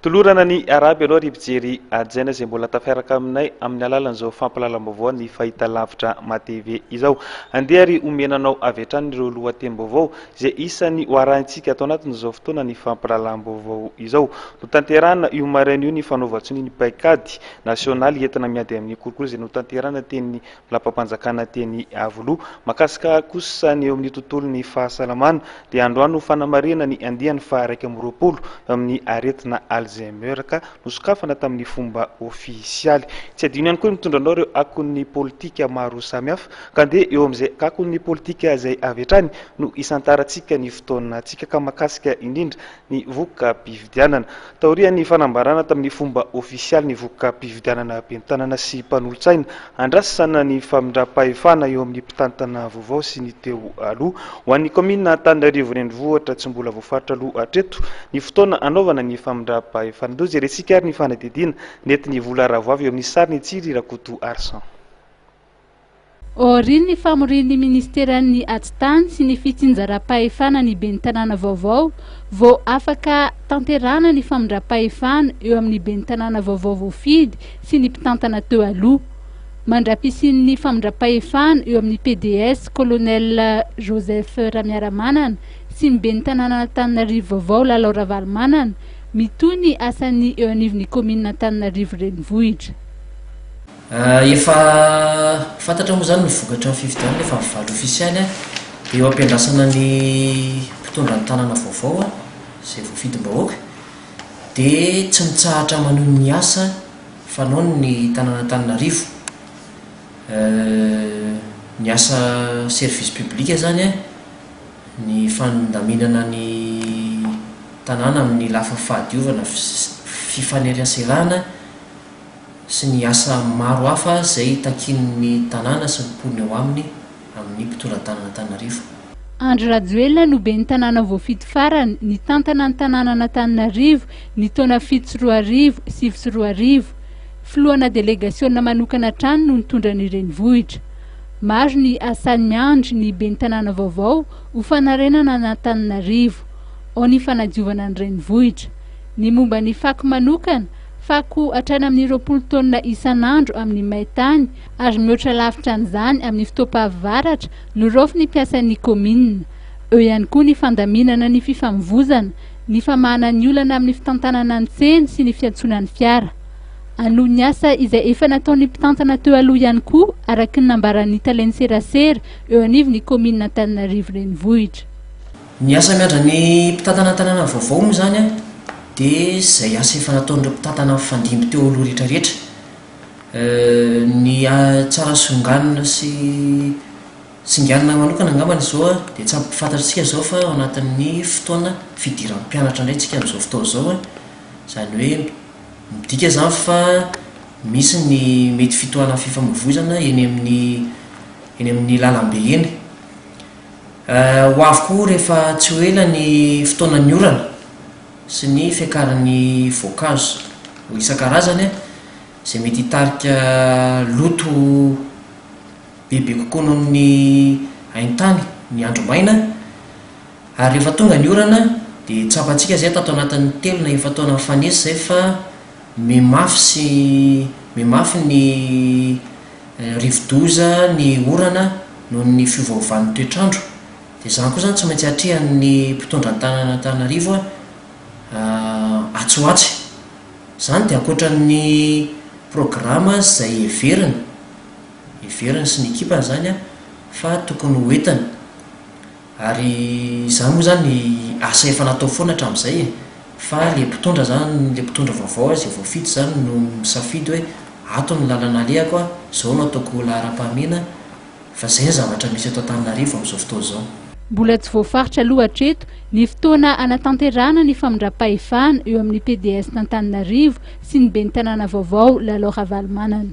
Tolorana ny arahaba ianao ry mpijery hajaina izay mbola tafiaraka aminay amin'ny alalan'izao fampahalalam-baovao ny fahitalavitra MATV izao. Andeha ary omena anao avy hatrany ireo lohatenim-baovao izay isan'ny ho arahintsika ato anatin'izao fotoana ny fampahalalam-baovao izao. Notanterahina io maraina io ny fanaovan-tsonia ny paikady nasionaly entina miady amin'ny kolikoly izay notanterahina teny lapam-panjakana teny Iavoloha. Mahakasika kosa ny eo amin'ny tontolon'ny fahasalamana dia androany no fanamarihana ny andiany faha 21 amin'ny aretina Alzheimer ka nosokafana tamin'ny fomba ofisialy. Tsy adino ihany koa ny mitondra anao ireo akon'ny politika maro samihafa ka andeha eo amin'izay akon'ny politika izay avy hatrany no hisantarantsika ny fotoanantsika ka mahakasika indrindra ny voka-pifidianana. Taorian'ny fanambarana tamin'ny fomba ofisialy ny voka-pifidianana ben'ny tanàna sy mpanolotsaina, andrasana ny famindram-pahefana eo amin'ny mpitantana vaovao sy ny teo aloha. Ho an'ny kaominina Antananarivo Renivohitra, tsy mbola voafaritra aloha hatreto ny fotoana hanaovana ny famindram-pahefana. Andeha hojerentsika ary ny fanadihadiana nentin'i Vola Ravoavy eo amin'ny sarin'i Tsiry Rakoto Arsan. Aorian'ny famorian'ny minisiteran'ny Atitany sy ny fitsinjaram-pahefana ny ben'ny tanàna vaovao vao afaka tanterahana ny famindram-pahefana eo amin'ny ben'ny tanàna vaovao voafidy sy ny mpitantana teo aloha. Mandra-pisian'ny famindram-pahefana eo amin'ny pds Colonel Joseph Ramiaramanana sy ny ben'ny tanànan'Antananarivo vaovao Lalao Ravalomanana, mitohy ny asan'ny eo anivon'ny kaominina Antananarivo Renivohitra. Efa fantatra moa izany ny vokatry ny fifidianana, efa mivaly ofisialy dia eo am-piandrasana ny mpitondra ny tanàna vaovao izay voafidim-bahoaka dia tsy mitsahatra manohy ny asa fanaony ny tanàn'Antananarivo. Ny asa service public izany, ny fandaminana ny tanàna amin'ny lafiny fahadiovana, fifaneraserana, sy ny asa maro hafa izay takian'ny tanàna sy ny mponina eo aminy amin'ny mpitondra tanàn'Antananarivo. Andry Rajoelina no ben'ny tanàna voafidy farany nitantana ny tanànan'Antananarivo ny taona 2007, 2009. Filohana delegasiona manokana hatrany no nitondra ny renivohitra. Maro ny asa miandry ny ben'ny tanàna vaovao ho fanarenana an'Antananarivo. Ao ny fanadiovana ny renivohitra. Ny momba ny fako manokana, Fako hatrany amin'ny 20 taonina isan'andro amin'ny main-tany ary mihoatra lavitra an'izany amin'ny fotoam-pahavaratra no raofin'ny mpiasan'ny kaominina. Eo ihany koa ny fandaminana ny fifamivozana, ny famahana ny olana amin'ny fitantanana ny tsena sy ny fiantsoana ny fiara. Hanohy ny asa izay efa nataon'ny mpitantana teo aloha ihany koa araka ny nambaran'ny talen'ny serasera eo anivon'ny kaominina Antananarivo Renivohitra. Ny asa miandry ny mpitantana ny tanàna vaovao moa izany dia izay asa efa nataon'ireo mpitantana mifandimby teo aloha rehetra rehetra. Ny tsara songanina sy singanina manokana angambany izao dia tsy ampy fantatr'tsika izao fa ao anatin'ny fotoana fidiran'ny mpianatra indray tsika amin'izao fotoana izao. Izany hoe midika izany fa misy ny mety fitohanan'ny fifamoivoizana eny amin'ny eny amin'ny lalambe eny. Ho avy koa rehefa tsy ho ela ny fotoanan'ny orana sy ny fiakaran'ny voankazo isan-karazany izay mety hitarika loto bebe kokoa noho ny haintany ny andro maina ary rehefa tonga ny orana dia tsapantsika izay tato anatin'ny telo na efa-taona nifanesy izay fa mihamafy sy mihamafy ny rivodoza ny orana noho ny fiovaovan'ny toetr'andro, dia izany koa izany tsy maintsy atrehan'ny mpitondra ny tanàn'Antananarivo atsy ho atsy. Izany dia ankoatra ny programa izay heveriny, heveriny sy ny ekipany izany fa tokony ho entiny. Ary izany moa izany asa efa natao foana hatramin'izay e! Fa le mpitondra izany, le mpitondra vaovao izay voafidy izany no misafidy hoe ato ny lalana alehako a, izao no ataoko ho laharam-pahamehana, fa izay ny zavatra misy eto Antananarivo amin'izao fotoana izao. Mbola tsy voafaritra aloha hatreto ny fotoana hanatanterahana ny famindram-pahefana eo amin'ny PDS-n'Antananarivo sy ny ben'ny tanàna vaovao Lalao Ravalomanana.